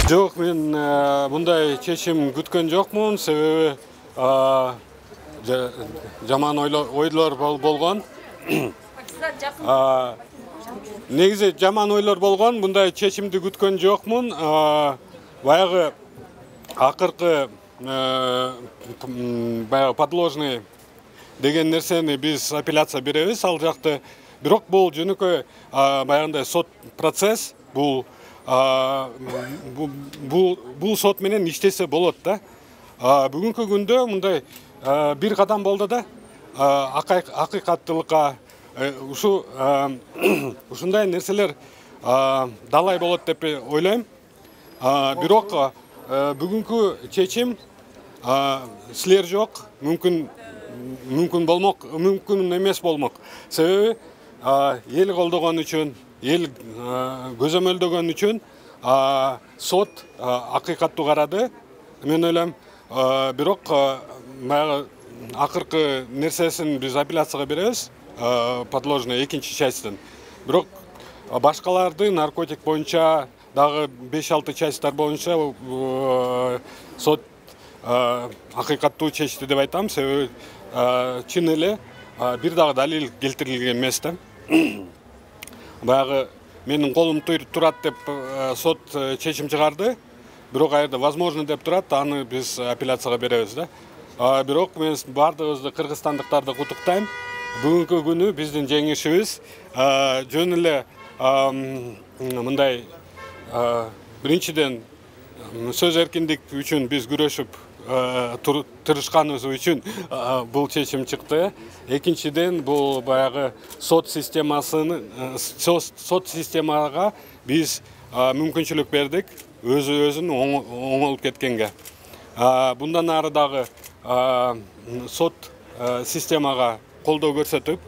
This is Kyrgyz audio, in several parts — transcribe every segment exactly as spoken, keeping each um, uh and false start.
Жок, мен мындай чечим күткөн жокмун, себеби жаман ойлор болгон. Негизи жаман ойлор болгон, мындай чечимди күткөн жокмун. Баягы акыркы баягы подложный деген нерсени биз апелляция беребиз ал жакты. Бирок бул жөнөкөй баягындай сот процесс, бул бул сот менен иштесе болот да. Бүгүнкү күндө мындай бир кадам болду да. Акыйкаттуулукка ушу ушундай нерселер далай болот деп ойлойм. Бирок бүгүнкү чечим силер жок, мүмкүн мүмкүн болмок, мүмкүн эмес болмок. Себеби эл колдогон үчүн, эл көзөмөлдөгөн үчүн сот акыйкаттуу карады. Мен ойлойм, бирок баягы акыркы нерсесин биз апелляцияга беребиз, подложный экинчи частьтен. Бирок башкаларды наркотик боюнча дагы беш алты частьтар боюнча сот акыйкаттуу чечти деп айтам, себеби чын эле бир дагы далил келтирилген эмес да. Баягы менин колум турат деп сот чечим чыгарды. Бирок аерде возможно деп турат, аны биз апелляцияга беребиз да. Бирок мен бардыгыбызды кыргызстандыктарды куттуктайм. Бүгүнкү күнү биздин жеңишибиз. Жөн эле мындай биринчиден сөз эркиндик үчүн биз күрөшүп тырышканыбыз үчүн бул чечим чыкты. Экинчиден бул баягы сот системасын сот системага биз мүмкүнчүлүк бердик өзү өзүн оңолуп кеткенге. Bundan ары дагы сот системага колдоо көрсөтүп,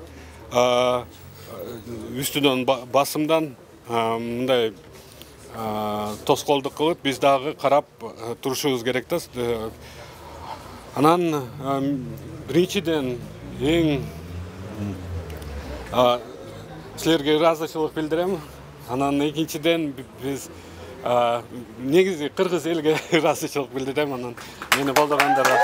үстүнөн басымдан мындай тоскоолдук кылып, биз дагы карап турушубуз керек да. Анан биринчиден эң силерге ыраазычылык билдирем. Анан экинчиден биз негизи кыргыз элге ыраазычылык билдирем. Анан мени колдогондарга